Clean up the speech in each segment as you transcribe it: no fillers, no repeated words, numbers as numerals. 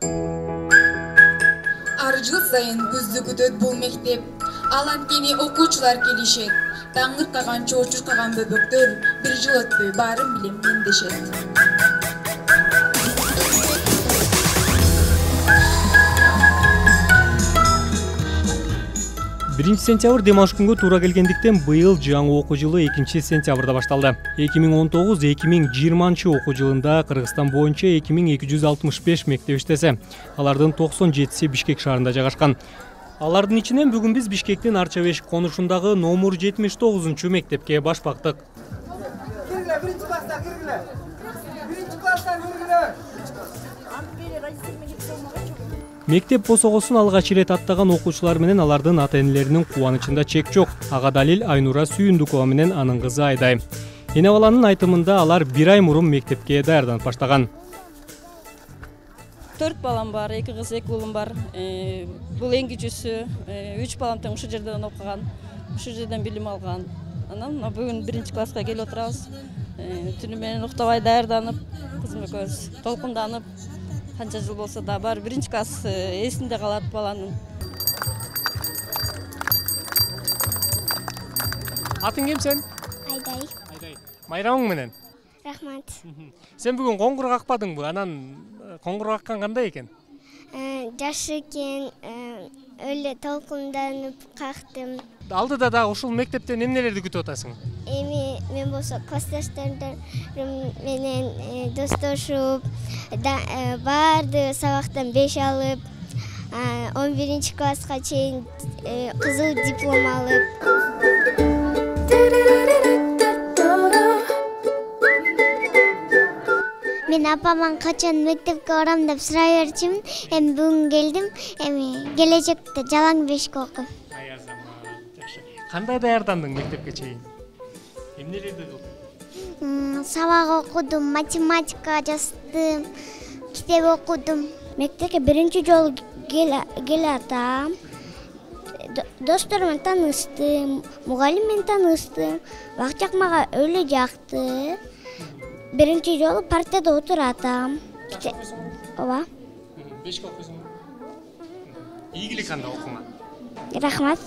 Ар жыл сайын күздү күтөт бул мектеп. Ал анткени окуучулар келишет. Таңыркаган, чоочуркаган бөбөктөр бир жыл өтпөй баарын билем мендешет. 1 сентябрь демалыш күнгө туура келгендиктен быйыл жаңы окуу жылы 2 сентябрда башталды. 2019-2020 окуу жылында Кыргызстан боюнча 2265 мектеп иштесе, алардын 97си Бишкек шаарында жайгашкан. Алардын ичинен бүгүн биз Бишкектин Арча-Беш конушундагы номер 79 мектепке баш бактык. Мектеп босогосун алгач ирет аттаган окуучулар менен алардын ата-энелеринин кубанычында чек жок. Ага далил Айнура Сүйүндүкова менен анын кызы Айдай. Эне баланын айтымында алар 1 ай мурун мектепке даярданып баштаган. 4 балам бар, 2 кыз, 2 уулум бар. Бул эң кичүүсү, 3 балам тең ушул жерден окуган, ушул жерден билим алган. Анан бүгүн 1 класска келип отурабыз. Түнү менен уктабай даярданып, кызым экөөбүз толкунданып, канча жыл болсо да бар 1 класс эсинде калат баланын. Атың ким сен? Айдай. Айдай. Майрамың менен? Рахмат. Сен бүгүн коңгур какпадыңбы? Анан коңгур каккан кандай экен? Жашы экен, эле толкунданып кактым. Алдыда да ушул мектептен эмнелерди күтүп атасың? Эми мен болсо классташтарым менен достошуп, баарды сабактан 5 алып, 11 класска чейин кызыл диплом алып. Мен апаман качан мектепке барам деп сурай берчүмүн. Эми бүгүн келдим. Эми келечекте жалаң бешке окуйм. Кандай даярдандың мектепке чейин? Эмнелерди кылдың? Сабак окудум, математика жаздым, китеп окудум. Мектепке биринчи жолу келатам. Досторум менен таанышты, мугалим менен таанышты. Бакчак мага өлө жакты. Биринчи жолу партада отуратам. Ооба. 5 окуйсуңбу? Ийгилик анда окуңа. Рахмат.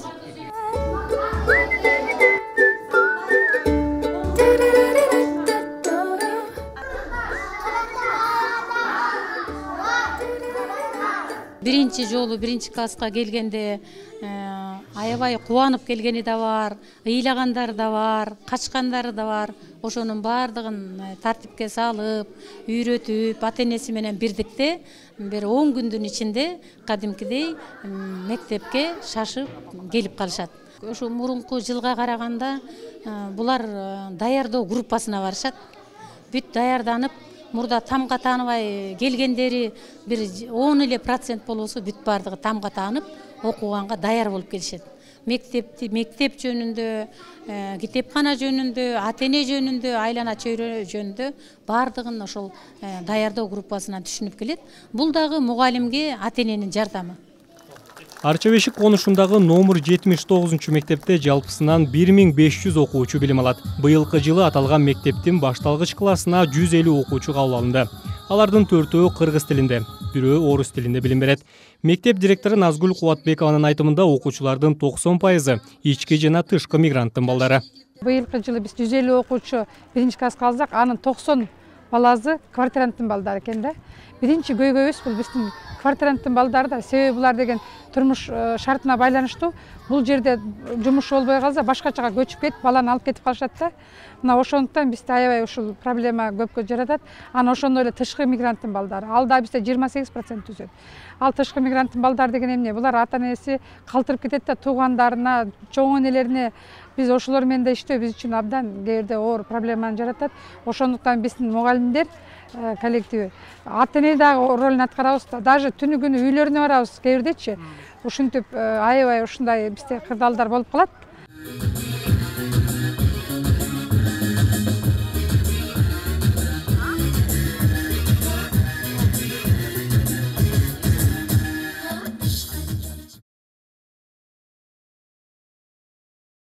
Биринчи жолу 1 класска келгенде аябай кубанып келгени да бар, ыйлагандары да бар, качкандары да бар. Ошонун баардыгын тартипке салып, үйрөтүп, ата-энеси менен бирдикте бир 10 күндүн ичинде кадимкидей мектепке шашып келип калышат. Ошо мурунку жылга караганда булар даярдоо группасына барышат. Бүт даярданып, мурда тамга тааныбай келгендери бир 10% болосо бүт баардыгы тамга таанып, окуганга даяр болуп келишет. Мектеп жөнүндө, китепкана жөнүндө, ата-эне жөнүндө, айлана чөйрө жөнүндө баардыгын ошол даярдоо группасынан түшүнүп келет. Бул дагы мугалимге ата-эненин жардамы. Арча-Бешик конушундагы номер 79 мектепте жалпысынан 1500 окуучу билим алат. Быйылкы жылы аталган мектептин башталгыч классына 150 окуучу кабыл алынды. Алардын 4-өө кыргыз тилинде, бирөө орус тилинде билим берет. Мектеп директору Назгүл Кубатбекованын айтымында окуучулардын 90% ички жана тышкы мигранттын балдары. Быйылкы жылы биз 150 окуучу 1 класска алсак, анын 90 баласы квартиранттын балдары экен да. Биринчи көйгөйүбүз бул биздин квартиранттын балдары да, себеби булар деген турмуш шартына байланыштуу. Бул жерде жумуш болбой калса, башкачага көчүп кетип, баланы алып кетип калышат да. Мына ошондуктан бизде аябай ушул проблема көпкө жаратат. Анан ошондой эле тышкы мигранттын балдары. Ал да бизде 28% түзөт. Ал тышкы мигранттын балдары деген эмне? Булар ата-энеси калтырып кетет да, туугандарына, чоң энелерине. Биз ошолор менен да иштөө биз үчүн абдан кээ бирде оор проблеманы жаратат. Ошондуктан биздин мугалимдер коллективи ата-эне дагы ролун аткарабыз да. Даже түнү күнү үйлөрүнө барабыз кээ бирдечи. Ушинтип аябай ушундай бизде кырдаалдар болуп калат.